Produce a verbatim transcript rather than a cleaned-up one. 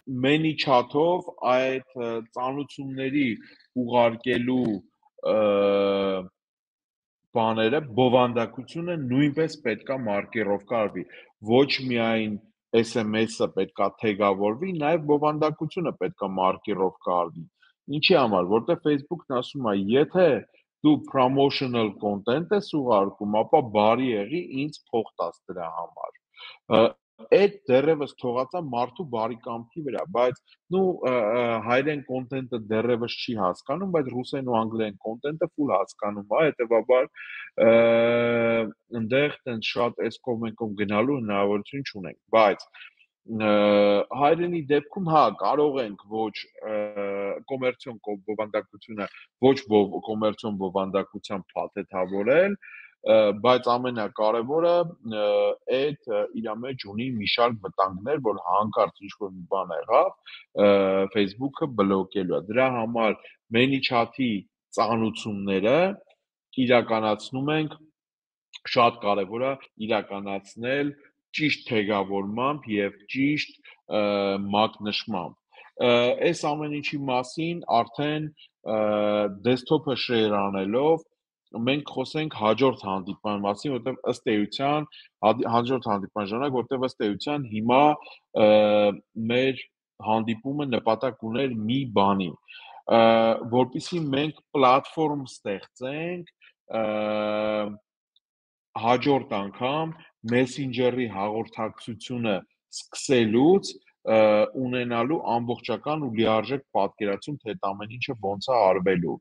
many chat-ով այդ ծանոթությունների ուղարկելու բաները բովանդակությունը նույնպես պետքա մարկերով կարվի, ոչ միայն S M S-ը պետքա թեգավորվի, նաև բովանդակությունը պետքա մարկերով կարվի։ Ինչի համար, որտեղ Facebook-ն ասում է, եթե դու promotional content ես ուղարկում, ապա բարի եղի ինձ փող տաս դրա համար։ Այդ դեռևս թողածա մարդու բարեկամքի վրա, բայց նու հայերեն կոնտենտը դեռևս չի հասկանում, բայց ռուսերեն ու անգլերեն կոնտենտը full հասկանում է, հետեւաբար այնտեղ տենց շատ այս կողմենքով գնալու հնարավորություն չունենք, բայց հայերենի դեպքում հա կարող ենք ոչ կոմերցիոն բովանդակությունը ոչ կոմերցիոն բովանդակությամբ փաթեթավորել, բայց ամենակարևորը այդ իր մեջ ունի մի շարք վտանգներ, որ հանկարծ ինչ-որ մի բան եղավ, Facebook-ը բլոկելու է։ Դրա համար ManyChat-ի ծանոթությունները իրականացնում ենք, շատ կարևոր է իրականացնել ճիշտ թեգավորմամբ եւ ճիշտ մակնշմամբ։ Այս ամեն ինչի մասին արդեն դեսքթոփը շեյր անելով մենք խոսենք հաջորդ հանդիպման մասին, որտեղ ըստ էության հաջորդ հանդիպման ժամանակ, որտեղ ըստ էության հիմա մեր հանդիպումը նպատակ ուներ մի բանի, որպեսզի մենք պլատֆորմ ստեղծենք հաջորդ անգամ Messenger-ի հաղորդակցությունը սկսելուց ունենալու ամբողջական ու լիարժեք պատկերացում, թե այդ ամեն ինչը ոնց է արվելու։